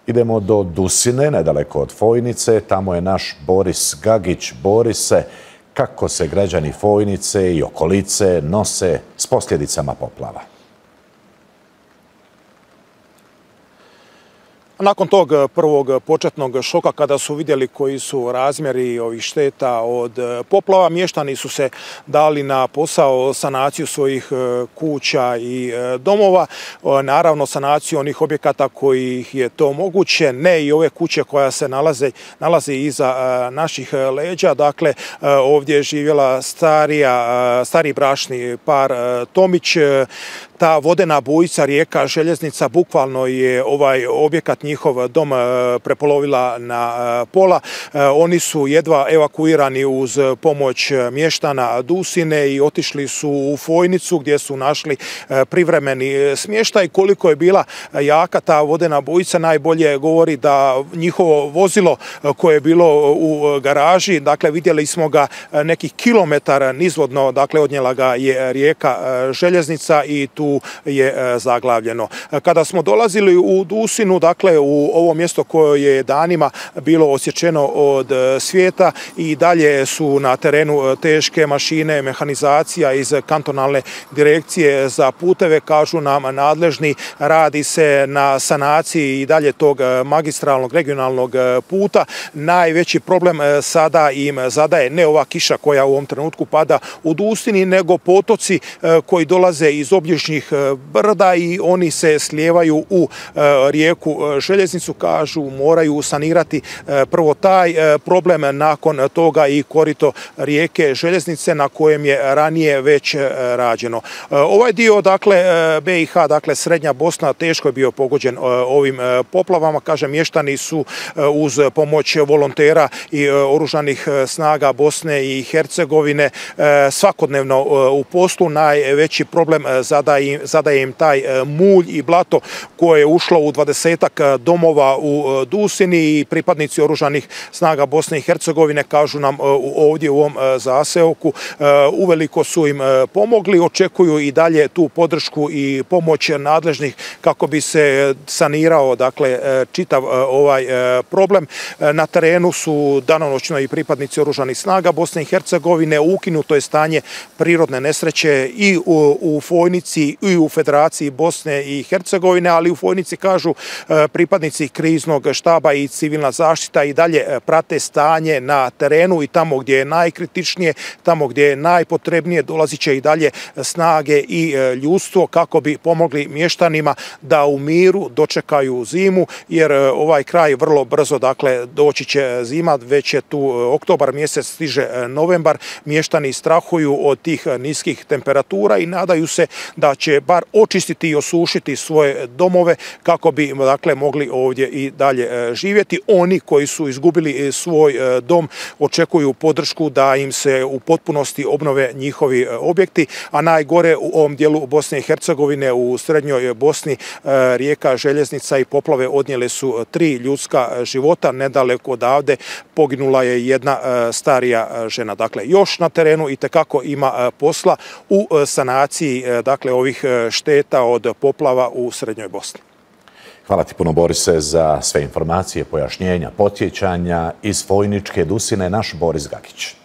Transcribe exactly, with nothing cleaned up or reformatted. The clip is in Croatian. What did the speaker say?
Idemo do Dusine, nedaleko od Fojnice. Tamo je naš Boris Gagić. Borise, kako se građani Fojnice i okolice nose s posljedicama poplava? Nakon tog prvog početnog šoka, kada su vidjeli koji su razmjeri ovih šteta od poplava, mještani su se dali na posao sanaciju svojih kuća i domova. Naravno, sanaciju onih objekata koji je to moguće, ne i ove kuće koja se nalaze, nalaze iza naših leđa. Dakle, ovdje je živjela starija, stari bračni par Tomić. Ta vodena bujica rijeka Željeznica bukvalno je ovaj objekat, njihov dom, prepolovila na pola. Oni su jedva evakuirani uz pomoć mještana Dusine i otišli su u Fojnicu gdje su našli privremeni smještaj. Koliko je bila jaka ta vodena bujica najbolje govori da njihovo vozilo koje je bilo u garaži, dakle vidjeli smo ga nekih kilometara nizvodno, dakle odnijela ga je rijeka Željeznica i tu je zaglavljeno. Kada smo dolazili u Dusinu, dakle u ovo mjesto koje je danima bilo osječeno od svijeta, i dalje su na terenu teške mašine, mehanizacija iz kantonalne direkcije za puteve, kažu nam nadležni, radi se na sanaciji i dalje tog magistralnog regionalnog puta. Najveći problem sada im zadaje ne ova kiša koja u ovom trenutku pada u Dusini, nego potoci koji dolaze iz obližnjih brda i oni se slijevaju u rijeku Željeznicu. Kažu moraju sanirati prvo taj problem, nakon toga i korito rijeke Željeznice na kojem je ranije već rađeno. Ovaj dio, dakle B i H, dakle srednja Bosna, teško je bio pogođen ovim poplavama. Kaže, mještani su uz pomoć volontera i oružanih snaga Bosne i Hercegovine svakodnevno u poslu. Najveći problem zadaje, zadaje im taj mulj i blato koje je ušlo u dvadesetak domova u Dusini, i pripadnici oružanih snaga Bosne i Hercegovine, kažu nam ovdje u ovom zaseoku, uveliko su im pomogli. Očekuju i dalje tu podršku i pomoć nadležnih kako bi se sanirao, dakle, čitav ovaj problem. Na terenu su danonoćno i pripadnici oružanih snaga Bosne i Hercegovine. Ukinuto je stanje prirodne nesreće i u, u Fojnici i u Federaciji Bosne i Hercegovine, ali u Fojnici, kažu pripadnici kriznog štaba i civilna zaštita, i dalje prate stanje na terenu, i tamo gdje je najkritičnije, tamo gdje je najpotrebnije, dolazit će i dalje snage i ljudstvo kako bi pomogli mještanima da u miru dočekaju zimu, jer ovaj kraj vrlo brzo, dakle, doći će zima. Već je tu oktobar mjesec, stiže novembar. Mještani strahuju od tih niskih temperatura i nadaju se da će bar očistiti i osušiti svoje domove kako bi, dakle, mogli ovdje i dalje živjeti. Oni koji su izgubili svoj dom očekuju podršku da im se u potpunosti obnove njihovi objekti, a najgore u ovom dijelu Bosne i Hercegovine, u srednjoj Bosni, rijeka Željeznica i poplave odnijele su tri ljudska života. Nedaleko odavde poginula je jedna starija žena. Dakle, još na terenu itekako ima posla u sanaciji, dakle, ovih šteta od poplava u srednjoj Bosni. Hvala ti puno, Borise, za sve informacije, pojašnjenja, podsjećanja iz Fojničke Dusine, naš Boris Gagić.